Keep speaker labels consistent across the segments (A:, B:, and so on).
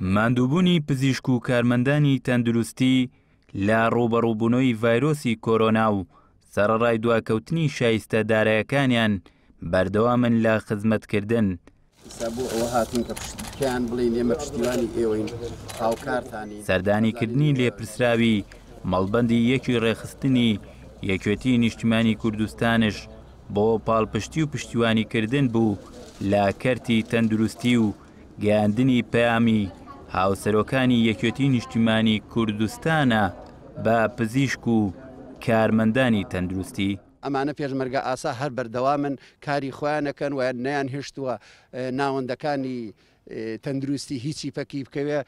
A: ماندووبوونی پزیشک و کارمەندانی تەندروستی لە ڕووبەڕووبوونەوەی ڤایرۆسی کۆرۆنا و سەرەڕای دواکەوتنی شایستە دارایەکانیان بەردەوامن لە خزمەتکردن.
B: ئیستا بۆ ئەوە هاتووین کە پێیان بڵێین ئێمە پشتیوانی ئێوەین، هاوکارتانین.
A: سەردانیکردنی لێپرسراوی مەڵبەندی یەکی ڕێکخستنی یەکێتی نیشتیمانی کوردستانش بۆ پاڵپشتی و پشتیوانیکردن بوو لە کەرتی تەندروستی و گەیاندنی پەیامی هاوسەرۆکانی یەکێتی نیشتیمانی کوردستانە بە پزیشک و کارمەندانی تەندروستی.
B: ئەمانە پێشمەرگە ئاسا هەر بەردەوامن کاری خۆیان ئەکەن و نەیان هێشتووە ناوەندەکانی تەندروستی هیچی پەکی بکەوێ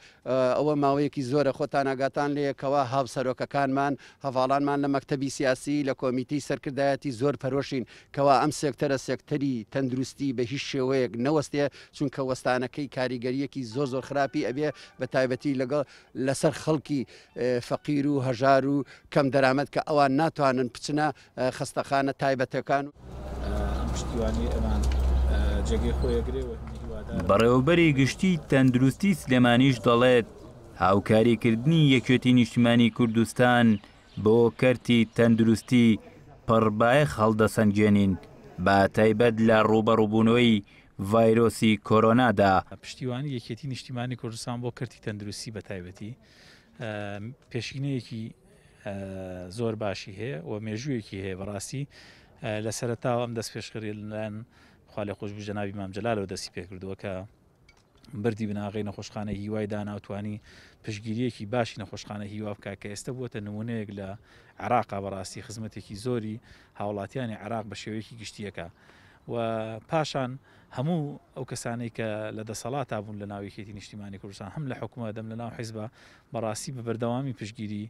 B: ئەوە ماوەیەکی زۆرە خۆتان ئاگاتان لێیە کەوا هاوسەرۆکەکانمان هەڤاڵانمان لە مەکتەبی سیاسی لە کۆمیتەی سەرکردایەتی زۆر پەرۆشین کەوا ئەم سێکتەرە سێکتەری تەندروستی بە هیچ شێوەیەک نەوەستێ چونکە وەستانەکەی کاریگەریەکی زۆر زۆر خراپی ئەبێ بە تایبەتی لەگەڵ لەسەر خەڵکی فەقیر و هەژار و کەم دەرامەت کە ئەوان ناتوانن بچنە خەستەخانە تایبەتەکان.
C: ئەم پشتیوانیەی ئەمان جێگەی خۆی ئەگرێ و هیوادارم.
A: بەڕێوەبەری گشتیی تەندروستی سلێمانیش دەڵێت، هاوکاریکردنی یەکێتی نیشتیمانی کوردستان بۆ کەرتی تەندروستی پڕبایەخ هەڵدەسەنگێنین، بە تایبەت لە ڕووبەڕووبوونەوەی ڤایرۆسی کۆرۆنادا.
C: پشتیوانی یەکێتی نیشتیمانی کوردستان بۆ کەرتی تەندروستی بە تایبەتی پێشینەیەکی زۆر باشی هەیە و مێژوویەکی هەیە بەڕاستی لە سەرەتاوە ئەم دەست پێشخەری لەلایەن خوالێخۆشبوو جەنابی مام جەلالەوە دەستی پێکردووە کە بردی بناغەی نەخۆشخانەی هیوای دانا و توانی پشگیریەکی باشی نەخۆشخانە هیوا بکە کە ئێستا بووەتە نمونەیەک لە عراقا بەڕاستی خزمەتێکی زۆری هاوڵاتیانی عراق بە شێوەیەکی گشتیەکە و پاشان هەموو ئەو کەسانەی کە لە دەسەڵاتا بوون لە ناو یەکێتی نیشتیمانی کوردستان هەم لە حکومەت هەم لە ناو حیزبا بەڕاستی بە بەردەوامی پشتگیری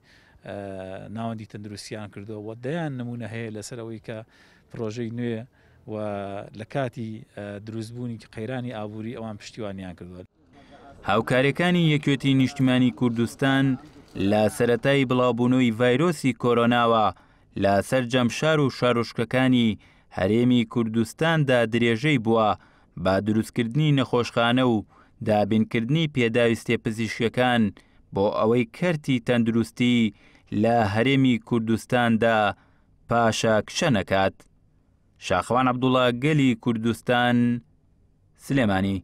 C: ناوەندی تەندروستیان کردووە و دەیان نمونە هەیە لەسەر ئەوەی کە پرۆژەی نوێ و لە کاتی دروستبوونی قەیرانی ئابووری ئەوان پشتیوانیان کردووە.
A: هاوکاریەکانی یەکێتی نیشتیمانی کوردستان لە سەرەتای بڵاوبوونەوەی ڤایرۆسی کۆرۆناوە لە سەرجەم شار و شارۆچکەکانی هەرێمی کوردستاندا درێژەی بووە بە دروستکردنی نەخۆشخانە و دابینکردنی پێداویستیە پزیشکیەکان بۆ ئەوەی کەرتی تەندروستی لە هەرێمی کوردستاندا پاشەکشە نەکات. شاخەوان عەبدوڵا گەلی کوردستان، سلێمانی.